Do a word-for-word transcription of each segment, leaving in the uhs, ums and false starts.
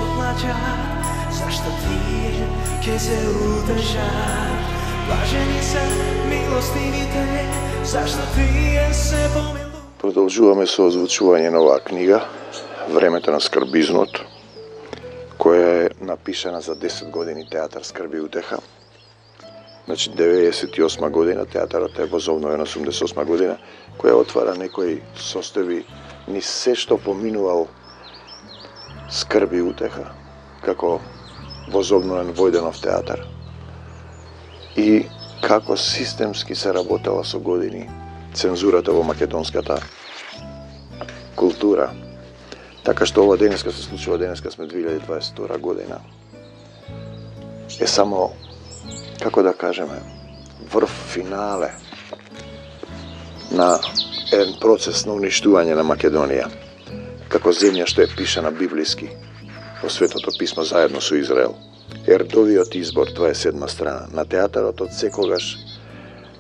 поплачат, зашто тие ке се удржат. Блажени се милостивите, зашто тие се помилуваат. Продолжуваме со озвучување на оваа книга, Времето на скрбизнот, која е напишана за десет години театар Скрби и утеха. Значи, деветдесет и осма година, театарот е возобновен осумдесет и осма година, која отвара некои состојби ни се што поминувал Скрби и утеха, како возобновен Војденов театар. И како системски се работела со години цензурата во македонската култура. Така што ова денеска се случува, денеска сме две илјади дваесет и втора година. Е само, како да кажеме, врв финале на еден процес на уништување на Македонија, како земја што е пишана библиски во Светото писмо заедно со Израел. Ердовиот избор, тоа е седма страна. На театарот од секогаш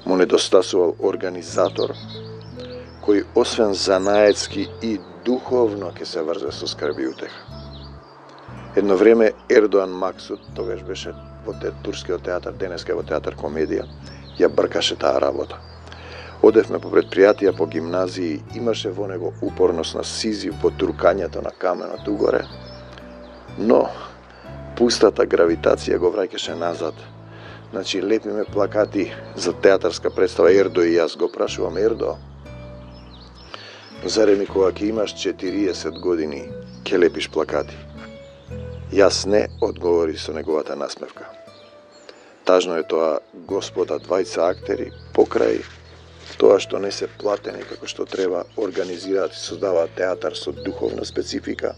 му недостасувал организатор кој освен занаетски и духовно ќе се врзе со Скрби и утеха. Едно време Ердоан Максут, тогаш беше во те, турскиот театар, денеска е во театар Комедија, ја бркаше таа работа. Одевме по предпријатија, по гимназии, имаше во него упорност на Сизиф во туркањето на каменот угоре, но пустата гравитација го враќаше назад. Значи, лепиме плакати за театарска представа. Ердо и јас го прашувам: Ердо, зарем и кога ќе имаш четириесет години, ќе лепиш плакати? Јас не, одговори со неговата насмевка. Тажно е тоа, господа двајца актери, покрај тоа што не се платени како што треба, организираат и создаваат театар со духовна специфика.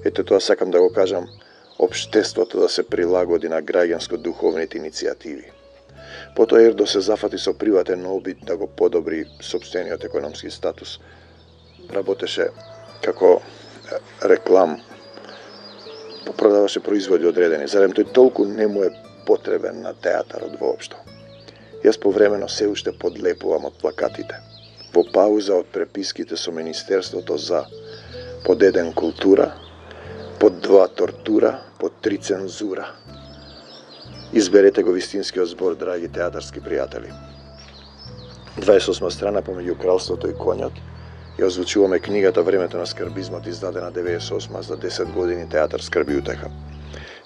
Ето тоа сакам да го кажам, општеството да се прилагоди на граѓанско-духовните иницијативи. Потоа Ердо се зафати со приватен обид да го подобри сопствениот економски статус. Работеше како реклам, продаваше производи одредени. Зарем тој толку не му е потребен на театарот воопшто? Јас повремено се уште подлепувам од плакатите. Во пауза од преписките со Министерството за под еден култура, под два тортура, под три цензура. Изберете го вистинскиот збор, драги театарски пријатели. дваесет и осма страна помеѓу кралството и конјот. Ја озвучуваме книгата Времето на скрбизмот, издадена деветдесет и осма, за десет години театар Скрби и утеха.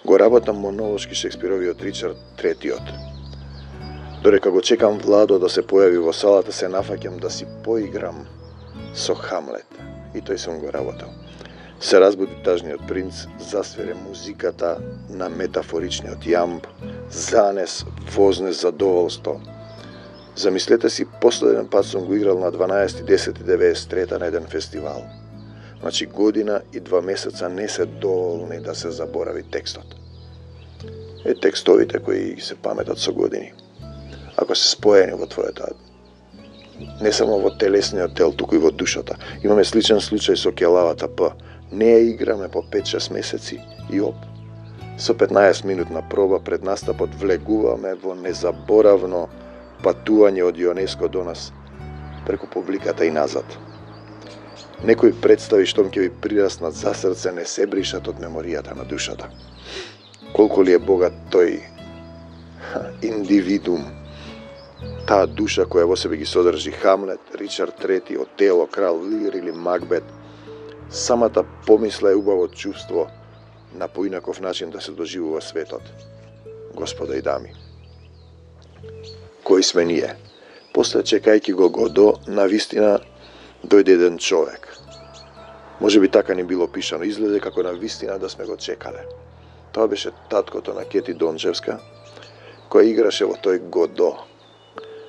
Го работам монолошки Шекспировиот Ричард Третиот. Дорека го чекам Владо да се појави во салата, се нафаќам да си поиграм со Хамлет. И тој сум го работал. Се разбуди тажниот принц, засвире музиката на метафоричниот јамб, занес, вознес задоволство. Замислете си, последен пат сум го играл на дванаесети десети деветдесет и трета на еден фестивал. Значи година и два месеца не се доволни да се заборави текстот. Е текстовите кои се паметат со години. Ако се споени во твојата, не само во телесниот тел, туку и во душата. Имаме сличен случај со Келавата П. Не ја играме по пет-шест месеци и оп. Со петнаесет минутна проба пред настапот влегуваме во незаборавно патување од ЮНЕСКО до нас, преку публиката и назад. Некои представи штом ќе ви прираснат за срце не се бришат од меморијата на душата. Колку ли е богат тој индивидум, таа душа која во себе ги содржи Хамлет, Ричард Трети, Отело, Крал Лир или Макбет, самата помисла е убаво чувство на поинаков начин да се доживува светот. Господа и дами, кои сме ние? После чекајќи го Годо, навистина дојде еден човек. Може би така ни било пишано, изгледа како навистина да сме го чекале. Тоа беше таткото на Кети Дончевска, која играше во тој Годо.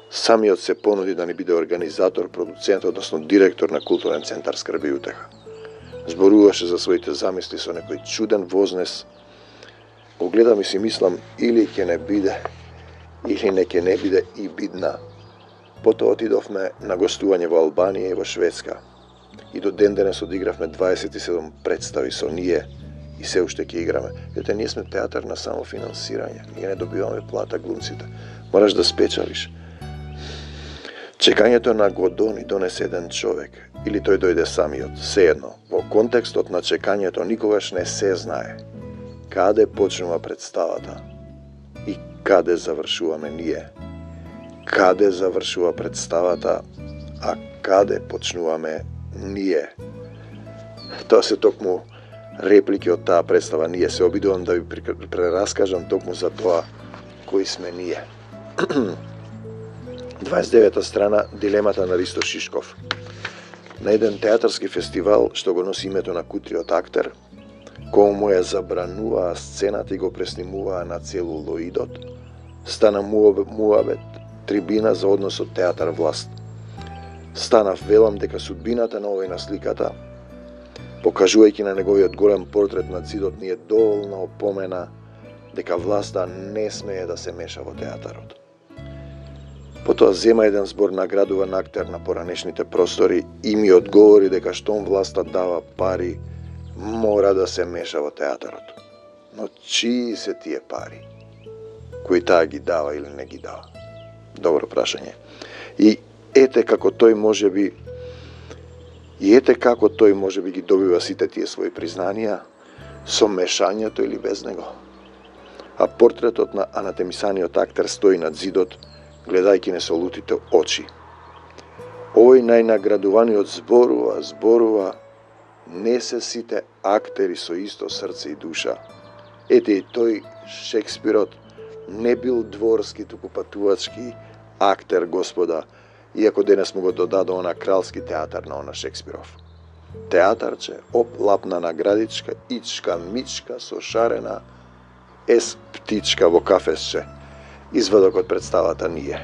Самиот се понуди да ни биде организатор, продуцент, односно директор на културен центар Скрби и утеха. Зборуваше за своите замисли со некој чуден вознес. Го гледам и си мислам, или ќе не биде, или не ќе не биде и бидна. Потоа отидовме на гостување во Албанија и во Шведска. И до ден денес одигравме дваесет и седум представи со ние и се уште ќе играме. Ете, ние сме театар на самофинансирање. Ние не добиваме плата глумците. Мораш да спечелиш. Чекањето на Годони донесе еден човек, или тој дојде самиот, сеедно, во контекстот на чекањето никогаш не се знае каде почнува представата и каде завршуваме ние. Каде завршува представата, а каде почнуваме ние. Тоа се токму реплики од таа представа. Ние се обидувам да ви прераскажам токму за тоа кои сме ние. дваесет и девета страна, дилемата на Ристо Шишков. На еден театарски фестивал, што го носи името на Кутриот актер, кому му ја забрануваа сцената и го преснимуваа на целулоидот, стана муабет, трибина за односот театар-власт. Станав велам дека судбината на овој на сликата, покажувајќи на неговиот голем портрет на цидот, ни е доволна опомена дека власта не смее да се меша во театарот. Потоа зема еден збор наградуван актер на поранешните простори и ми одговори дека штом власта дава пари, мора да се меша во театарот. Но чии се тие пари? Кој таа ги дава или не ги дава? Добро прашање. И ете како тој може би и ете како тој може би ги добива сите тие своји признанија со мешањето или без него. А портретот на анатемисаниот актер стои над зидот, гледајќи несолутите очи. Овој најнаградуваниот зборува, зборува, не се сите актери со исто срце и душа. Ете и тој Шекспирот не бил дворски, туку патувачки актер, господа, иако денес му го додаде она кралски театар на она Шекспиров. Театарче, оп, лапна наградичка, ичка, мичка, со шарена, ес птичка во кафесче. Извадок од представата Ние,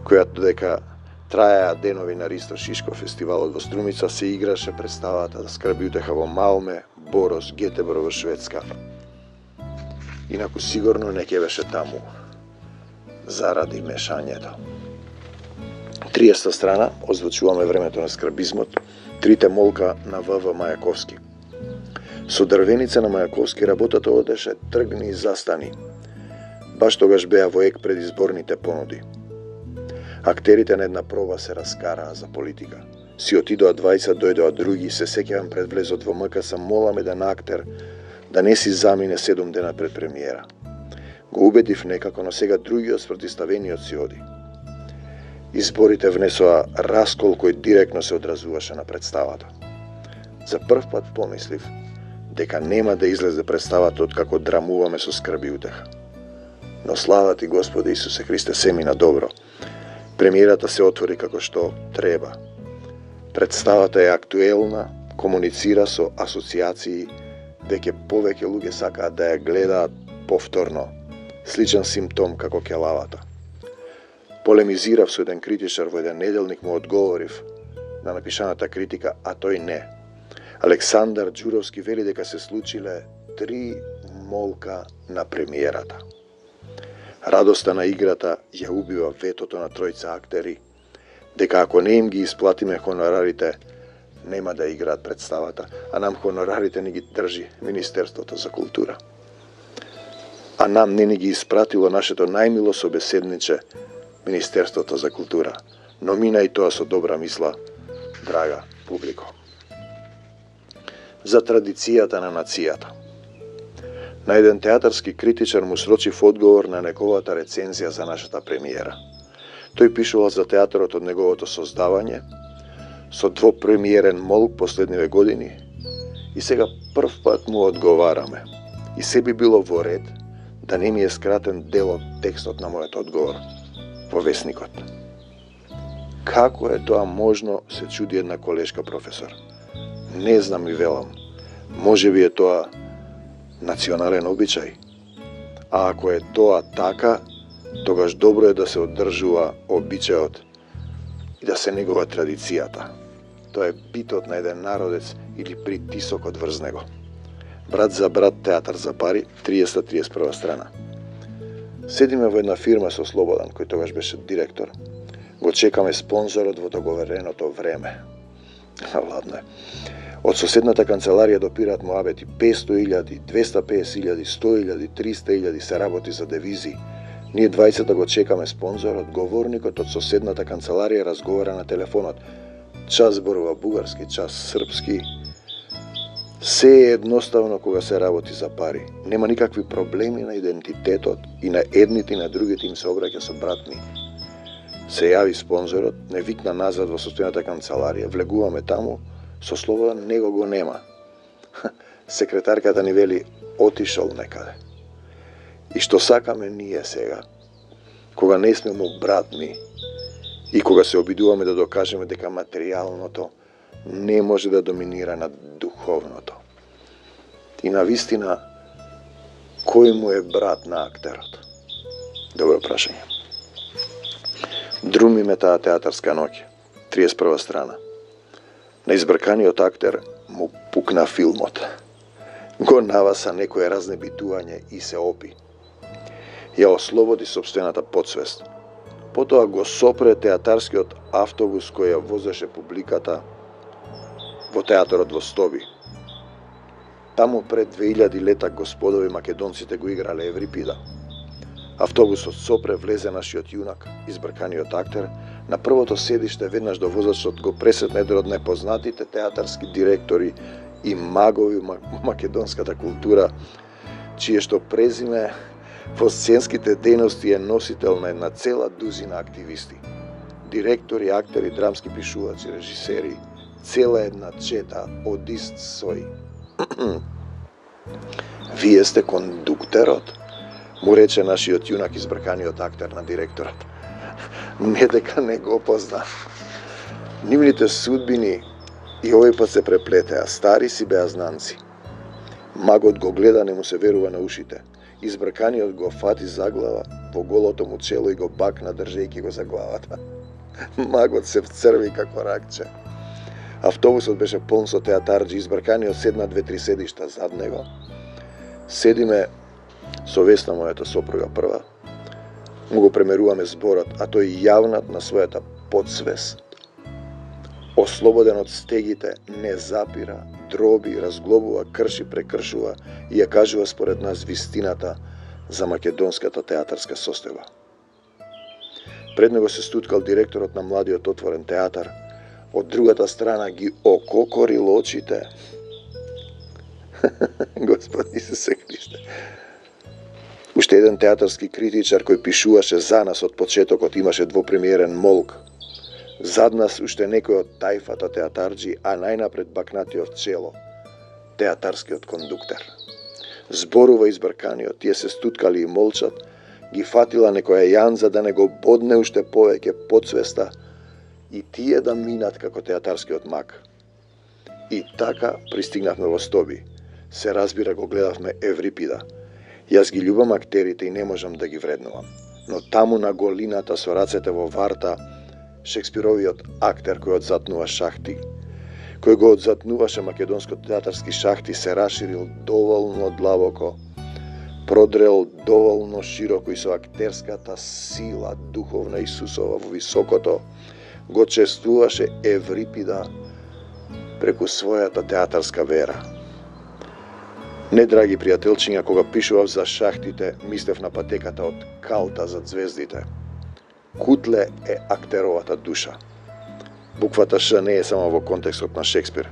којато дека траеа денови на Ристо Шишков фестивалот во Струмица, се играше представата да Скрабиутеха во Малме, Борос, Гетебор во Шведска. Инаку сигурно не ќе беше таму, заради мешањето. триесета страна, озвучуваме времето на скрабизмот, трите молка на В В Мајаковски. Со дрвеница на Мајаковски работата одеше тргни и застани. Баш тогаш беа во ек предизборните понуди. Актерите на една проба се раскараа за политика. Си отидоа двајца, дојдоа други, се сеќавам пред влезот во М К С, молам еден актер да не си замине седум дена пред премиера. Го убедив некако, но сега другиот спротиставениот си оди. Изборите внесоа раскол кој директно се одразуваше на представата. За прв пат помислив дека нема да излезе представата од како драмуваме со Скрабиутеха. Но слава ти Господи Исусе Христе, се мина добро. Премиерата се отвори како што треба. Представата е актуелна, комуницира со асоциации, веќе повеќе луѓе сакаат да ја гледаат повторно. Сличен симптом како келавата. Полемизирав со еден критичар во еден неделник, му одговорив на напишаната критика, а тој не. Александар Ѓуровски вели дека се случиле три молка на премиерата. Радоста на играта ја убива ветото на тројца актери, дека ако не им ги исплатиме хонорарите, нема да играат представата, а нам хонорарите ни ги држи Министерството за култура. А нам не ни ги испратило нашето најмило собеседниче, Министерството за култура. Но мина и тоа со добра мисла, драга публико. За традицијата на нацијата. На еден театарски критичар му срочив одговор на неговата рецензија за нашата премиера. Тој пишувал за театарот од неговото создавање, со двопремиерен молк последниве години, и сега прв пат му одговараме. И се би било во ред да не ми е скратен дел од текстот на мојот одговор во весникот. Како е тоа можно, се чуди една колешка професор. Не знам и велам. Може би е тоа национален обичај. А ако е тоа така, тогаш добро е да се одржува обичајот и да се негува традицијата. Тоа е битот на еден народец или притисокот врз него. Брат за брат, театар за пари, триесета триесет и прва страна. Седиме во една фирма со Слободан, кој тогаш беше директор. Го чекаме спонзорот во договореното време. Ладно е. Од соседната канцеларија допираат муабети песто илјади, двесте и песет илјади, сто илјади, триста илјади, се работи за девизи. Ние двајцата го чекаме спонзорот, говорникот од соседната канцеларија разговара на телефонот. Час зборува бугарски, час српски. Се е едноставно кога се работи за пари. Нема никакви проблеми на идентитетот и на едните и на другите им се обраќа со братни. Се јави спонзорот, не викна назад во состојната канцеларија, влегуваме таму, со Слободан него го нема. Секретарката ни вели отишол некаде. И што сакаме ние сега, кога не сме му братни и кога се обидуваме да докажеме дека материјалното не може да доминира над духовното. И на вистина, кој му е брат на актерот? Добро прашање. Друми ме таа театарска ноќ, триесет и прва страна. На избрканиот актер му пукна филмот. Го наваса некое разнебитување и се опи. Ја ослободи сопствената подсвест. Потоа го сопре театарскиот автобус кој ја возеше публиката во театарот во Стоби. Таму пред две илјади лета господови македонците го играле Еврипида. Автобусот сопре, влезе нашиот јунак, избрканиот актер, на првото седиште веднаш до возачот го пресетне еден од непознатите театарски директори и магови македонската култура, чие што презиме во сценските дејности е носител на една цела дузина активисти. Директори, актери, драмски пишувачи, режисери, цела една чета од ист сој. Вие сте кондуктерот, му рече нашиот јунак избрканиот актер на директорот. Не дека не го позна. Нивните судбини и овој пат се преплетеа, стари си беа знанци. Магот го гледа, не му се верува на ушите. Избрканиот го фати за глава, во голото му чело и го бакна држејќи го за главата. Магот се вцрви како ракче. Автобусот беше полн со театарџи, избрканиот седна две-три седишта зад него. Седиме со Весна, мојата сопруга прва. Му го премеруваме зборот, а тој јавнат на својата подсвест. Ослободен од стегите, не запира, дроби, разглобува, крши, прекршува и ја кажува според нас вистината за македонската театарска состојба. Пред него се стуткал директорот на младиот отворен театар, од другата страна ги ококорил очите. Господ Исусе Христе. Уште еден театарски критичар кој пишуваше за нас од почетокот имаше двопремиерен молк. Зад нас уште некој од тајфата театарџи, а најнапред бакнатиот чело, театарскиот кондуктер. Зборува избрканиот, тие се стуткали и молчат, ги фатила некоја јанза да не го бодне уште повеќе подсвеста и тие да минат како театарскиот мак. И така пристигнавме во Стоби. Се разбира, го гледавме Еврипида. Јас ги љубам актерите и не можам да ги вреднувам. Но таму на голината со рацете во варта, Шекспировиот актер кој одзатнува шахти, кој го одзатнуваше македонско театарски шахти, се раширил доволно длабоко, продрел доволно широко и со актерската сила духовна Исусова во високото, го чествуваше Еврипида преку својата театарска вера. Не, драги пријателчиња, кога пишував за шахтите, мислев на патеката од калта за звездите. Кутле е актеровата душа. Буквата Ш не е само во контекстот на Шекспир.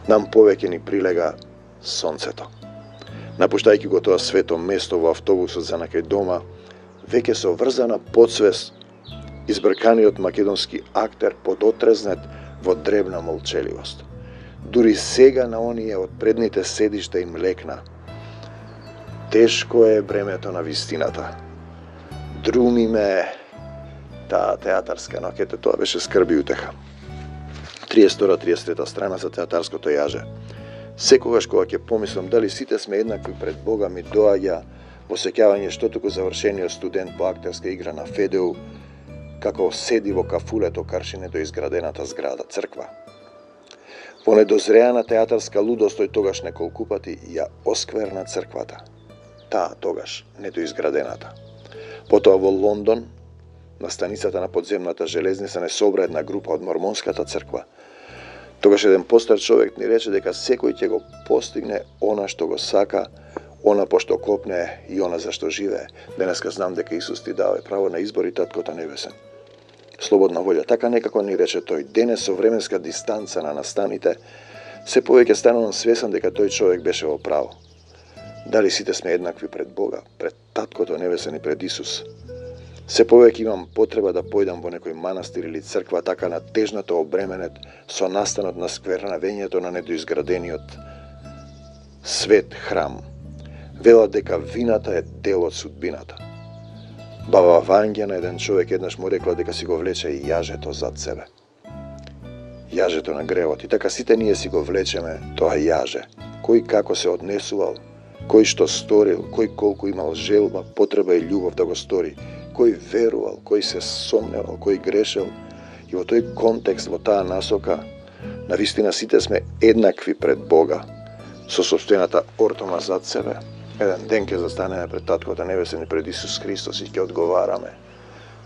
Нам повеќе ни прилега сонцето. Напуштајќи го тоа свето место во автобусот за накај дома, веќе со врзана подсвест, избрканиот македонски актер подотрезнет во дребна молчеливост. Дури сега на оние од предните седишта им лекна. Тешко е бремето на вистината. Друми ме таа театарска ноќ, ете тоа беше скрб и утеха. триесет и втора триесет и трета страна за театарското јаже. Секогаш кога ќе помислам дали сите сме еднакви пред Бога, ми доаѓа во сеќавање што туку завршениот студент по актерска игра на Федеу, како седи во кафулето каршине до изградената зграда црква. Во недозреана театарска лудост тој тогаш неколку пати ја оскверна црквата. Таа тогаш недоизградената. Потоа во Лондон, на станицата на подземната железница, не собра една група од мормонската црква. Тогаш еден постар човек ни рече дека секој ќе го постигне она што го сака, Она пошто копне и она зашто живее. Денеска знам дека Исус ти даде право на избор и Таткото небесен. Слободна волја, така некако ни рече тој. Денес со временска дистанца на настаните, се повеќе станувам свесен дека тој човек беше во право. Дали сите сме еднакви пред Бога, пред Таткото небесен и пред Исус? Се повеќе имам потреба да појдам во некој манастир или црква, така натежнато обременет со настанот на сквернавењето на недоизградениот свет храм. Велат дека вината е дел од судбината. Баба Вања на еден човек еднаш му рекла дека си го влече и јажето зад себе. Јажето на гревот. И така сите ние си го влечеме тоа јаже. Кој како се однесувал, кој што сторил, кој колку имал желба, потреба и љубов да го стори, кој верувал, кој се сомневал, кој грешел. И во тој контекст, во таа насока, навистина сите сме еднакви пред Бога, со собствената ортома зад себе. Еден ден ќе застанеме пред Таткото небесен и пред Исус Христос и ќе одговараме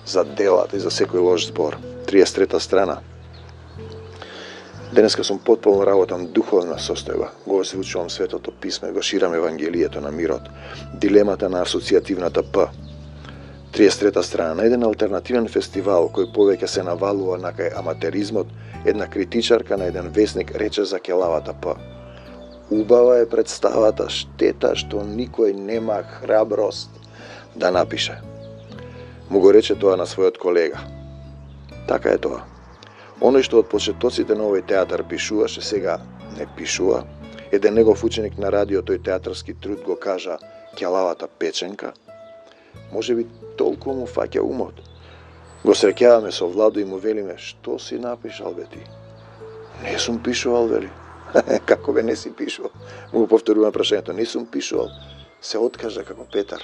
за делата и за секој лош збор. триесет трета страна. Денеска сум потполно работам духовна состојба. Го озвучувам Светото писмо и го ширам Евангелието на мирот. Дилемата на асоцијативната П. триесет трета страна. На еден алтернативен фестивал кој повеќе се навалува на кај аматеризмот, една критичарка на еден весник рече за келавата П. Убава е представата, штета што никој нема храброст да напише. Му го рече тоа на својот колега. Така е тоа. Оној што од почетоците на овој театар пишуваше, сега не пишува. Еден негов ученик на радио тој театарски труд го кажа келавата печенка. Може би толку му фаќа умот. Го среќаваме со Владо и му велиме, што си напишал бе ти? Не сум пишувал, вели. Како бе не си пишувал? Му го повторувам прашањето, не сум пишувал. Се откажа како Петар.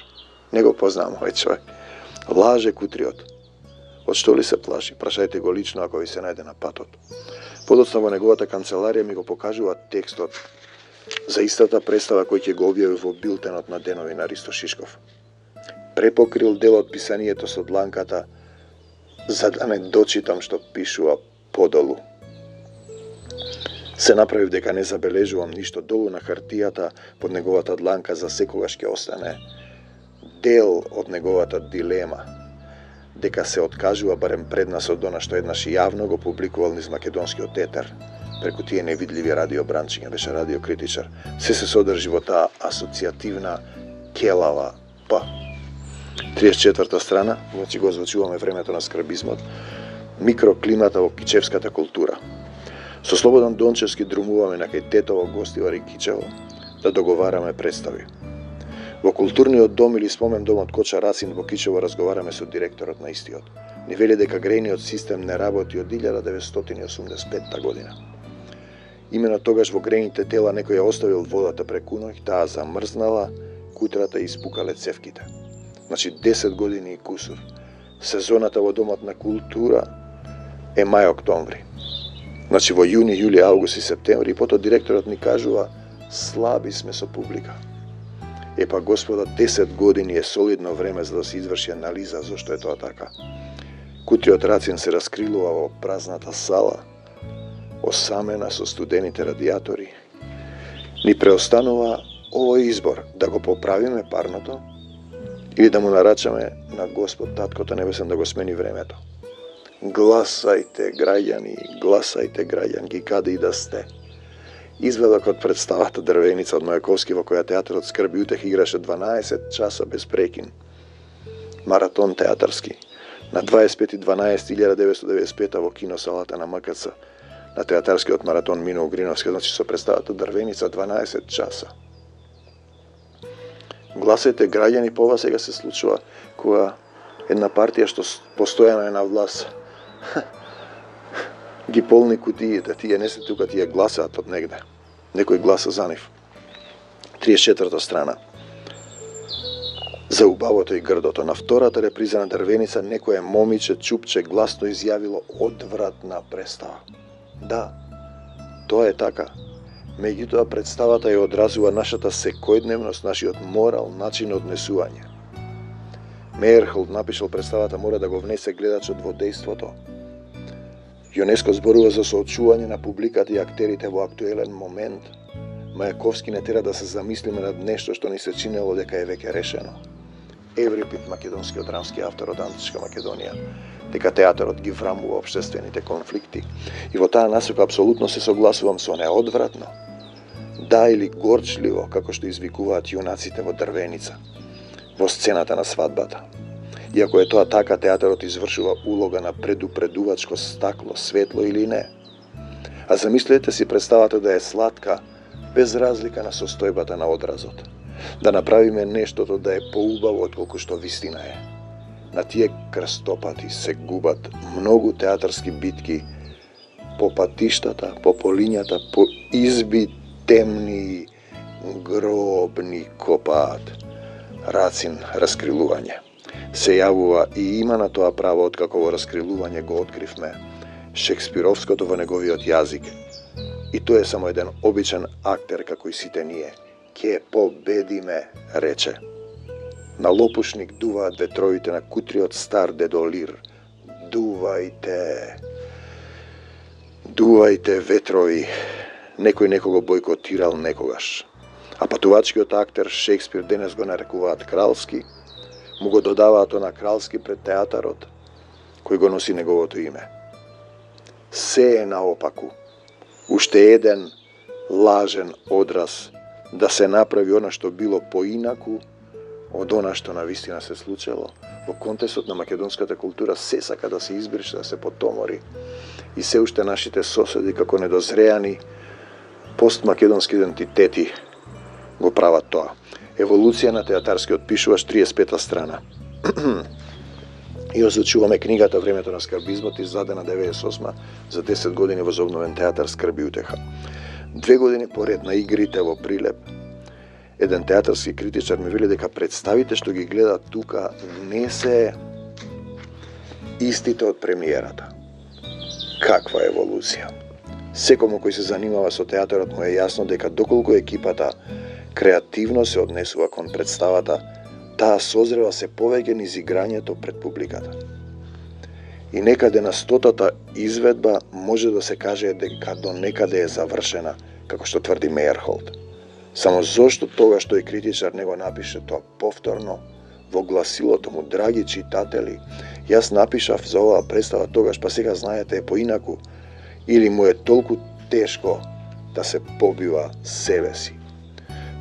Не го познавам овој човек. Лаже кутриот. Од што ли се плаши? Прашајте го лично ако ви се најде на патот. Подоцна во неговата канцеларија ми го покажува текстот за истата представа кој ќе го објави во билтенот на денови на Ристо Шишков. Препокрил дел од писанието со дланката за да не дочитам што пишува подолу. Се направив дека не забележувам ништо долу на хартијата под неговата дланка, за секогаш ќе остане дел од неговата дилема, дека се откажува барем пред нас од она што еднаш јавно го публикувал низ македонскиот етер, преку тие невидливи радиобранчиња, беше радиокритичар. Се се содржи во таа асоцијативна келава П. триесет четврта страна, значи го озвучуваме времето на скрбизмот, микроклимата во кичевската култура. Со Слободан Дончевски друмуваме на кај тетово гостивар и Кичево да договараме представи. Во културниот дом или спомен домот Коча Рацин во Кичево разговараме со директорот на истиот. Ни вели дека грејниот систем не работи од илјада деветстотини и осумдесет и петта година. Имено тогаш во грејните тела некој ја оставил водата преку ноќ, таа замрзнала, кутрата и испукале цевките. Значи десет години и кусур. Сезоната во домот на култура е мај-октомври. Значи во јуни, јули, август и септември, и потоа директорот ни кажува слаби сме со публика. Епа господа, десет години е солидно време за да се изврши анализа зошто е тоа така. Кутриот Рацин се раскрилува во празната сала, осамена со студените радиатори. Ни преостанува овој избор, да го поправиме парното или да му нарачаме на Господ Таткото Небесен да го смени времето. Гласајте, граѓани, гласајте, граѓанки, каде и да сте. Изведок од представата Дрвеница од Мајаковски, во која театарот Скрби утех играше дванаесет часа без прекин. Маратон театарски. На дваесет пети дванаесети илјада деветстотини деветдесет и пета во киносалата на М К Ц. На театарскиот маратон Мино Угриновски, значи со представата Дрвеница дванаесет часа. Гласајте, граѓани, по ова сега се случува кога една партија што постојано е на власт ги полни кутиите, тие не се тука, тие гласаат од негде. Некој гласа за нив. триесет четврта страна. За убавото и грдото. На втората реприза на Дрвеница некое момиче чупче гласно изјавило одвратна представа. Да, тоа е така. Меѓутоа представата ја одразува нашата секојдневност, нашиот морал, начин на однесување. Меерхолд напишал представата мора да го внесе гледачот во дејството. ЮНЕСКО зборува за соочување на публиката и актерите во актуелен момент, Мајаковски не тера да се замислиме над нешто што ни се чинело дека е веќе решено. Еврипид, македонскиот драмски автор од Античка Македонија, дека театарот ги врамува општествените конфликти. И во таа насока апсолутно се согласувам со неа одвратно. Да или горчливо, како што извикуваат јунаците во Дрвеница, во сцената на свадбата. Иако е тоа така, театарот извршува улога на предупредувачко стакло, светло или не. А замислете си представата да е сладка, без разлика на состојбата на одразот. Да направиме нештото да е поубаво отколку што вистина е. На тие крстопати се губат многу театарски битки по патиштата, по полињата, по изби темни, гробни копаат. Рацин раскрилување. Се јавува и има на тоа право откако во раскрилување го откривме Шекспировското во неговиот јазик. И тој е само еден обичен актер како и сите ние. Ке победиме, рече. На лопушник дуваат ветровите на кутриот стар дедо Лир. Дувајте. Дувајте ветрови. Некој некого бойкотирал некогаш. А патувачкиот актер Шекспир денес го нарекуваат кралски, му го додаваат на кралски пред театарот, кој го носи неговото име. Се е наопаку. Уште еден лажен одраз да се направи она што било поинаку од она што навистина се случило. Во контекстот на македонската култура се сака да се избрише, да се потомори. И се уште нашите соседи како недозреани постмакедонски идентитети го прават тоа. Еволуција на театарскиот пишуваш, триесет и пета страна. И озвучуваме книгата Времето на скарбизмот, издадена деветдесет и осма за десет години возобновен театар Скрби и утеха. Две години поред на игрите во Прилеп, еден театарски критичар ми вели дека представите што ги гледа тука не се истите од премиерата. Каква еволуција? Секому кој се занимава со театарот му е јасно дека доколку екипата креативно се однесува кон представата, таа созрева се повеќе низ играњето пред публиката. И некаде на стотата изведба може да се каже дека до некаде е завршена, како што тврди Мейерхолд. Само зошто тогаш тој критичар не го напише тоа повторно во гласилото му: драги читатели, јас напишав за оваа представа тогаш, па сега знаете е поинаку, или му е толку тешко да се побива себе си.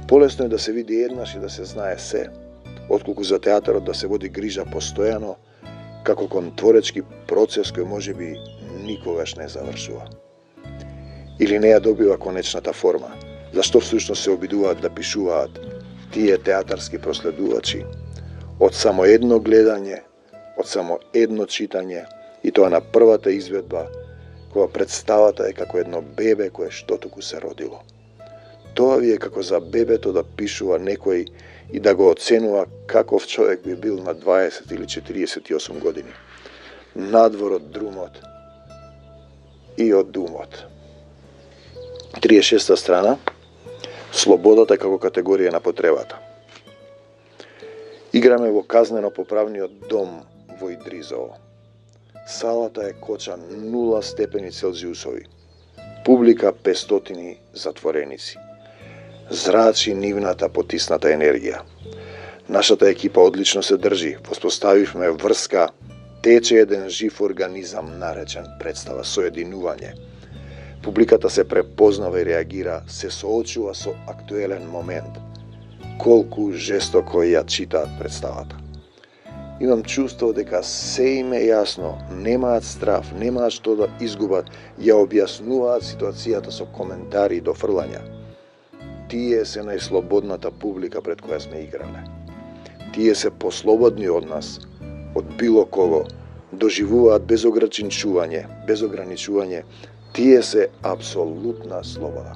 Полесно е да се види еднаш и да се знае се, отколку за театарот да се води грижа постојано, како кон творечки процес кој можеби никогаш не завршува. Или не ја добива конечната форма. Зашто всушност се обидуваат да пишуваат тие театарски проследувачи? Од само едно гледање, од само едно читање, и тоа на првата изведба, кога представата е како едно бебе кое што туку се родило. Тоа ви е како за бебето да пишува некој и да го оценува каков човек би бил на дваесет или четириесет и осум години. Надвор од друмот и од думот. триесет и шеста страна. Слободата како категорија на потребата. Играме во казнено-поправниот дом во Идризово. Салата е коча нула степени Целзиусови. Публика петстотини затвореници. Зрачи нивната потисната енергија. Нашата екипа одлично се држи. Воспоставивме врска, тече еден жив организам наречен представа соединување. Публиката се препознава и реагира, се соочува со актуелен момент. Колку жестоко ја читаат представата. Имам чувство дека се им е јасно, немаат страф, немаат што да изгубат, ја објаснуваат ситуацијата со коментари и дофрлања. Тие се најслободната публика пред која сме играле. Тие се послободни од нас, од било кого, доживуваат без ограничување, без ограничување, тие се апсолутна слобода.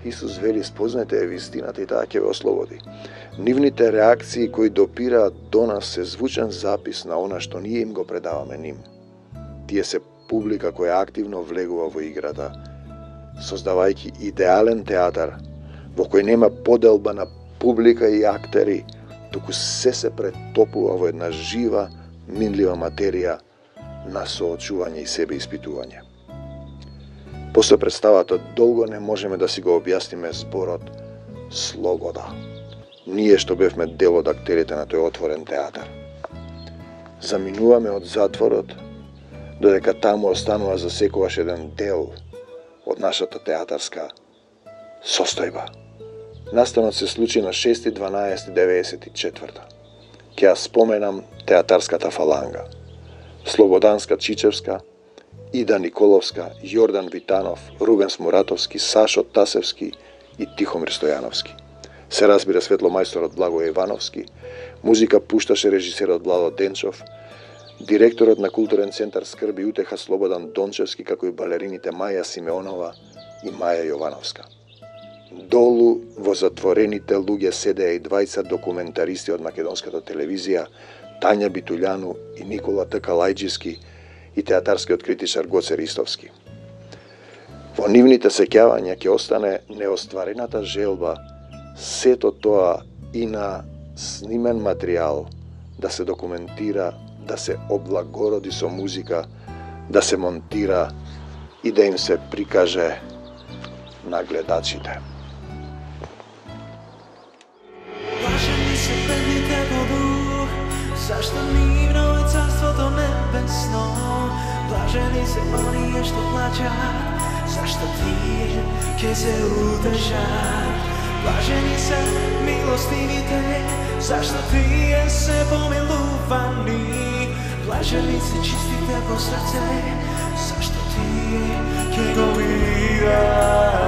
Исус вели: спознайте е вистината и таа ќе ве ослободи. Нивните реакции кои допираат до нас се звучен запис на она што ние им го предаваме ним. Тие се публика која активно влегува во играта, создавајќи идеален театар, во кој нема поделба на публика и актери, туку се се претопува во една жива, минлива материја на соочување и себе испитување. После представата долго не можеме да си го објасниме зборот слобода. Ние што бевме дел од актерите на тој отворен театар. Заминуваме од затворот, додека таму останува за секогаш еден дел од нашата театарска состојба. Настанот се случи на шести дванаести деветдесет и четврта. Ќе ја споменам театарската фаланга. Слободанска Чичевска, Ида Николовска, Јордан Витанов, Рубен Смуратовски, Сашо Тасевски и Тихомир Стојановски. Се разбира светломајсторот Благој Ивановски, музика пушташе режисерот Владо Денчов, директорот на културен центар Скрби и утеха Слободан Дончевски, како и балерините Маја Симеонова и Маја Јовановска. Долу во затворените луѓе седеа и двајца документаристи од македонската телевизија, Тања Битулјану и Никола Текалајџиски и театарскиот критичар Гоце Ристовски. Во нивните сеќавања ќе остане неостварената желба сето тоа и на снимен материјал да се документира, да се облагороди со музика, да се монтира и да им се прикаже на гледачите. Блажени се бедните во дух, зашто нивно е царството небесно. Блажени се оние што плачат, зашто тие ќе се удржат. Блажени се милостивите, зашто тие се помилувани. Блажени се чистите по срце, зашто тие ќе го видат.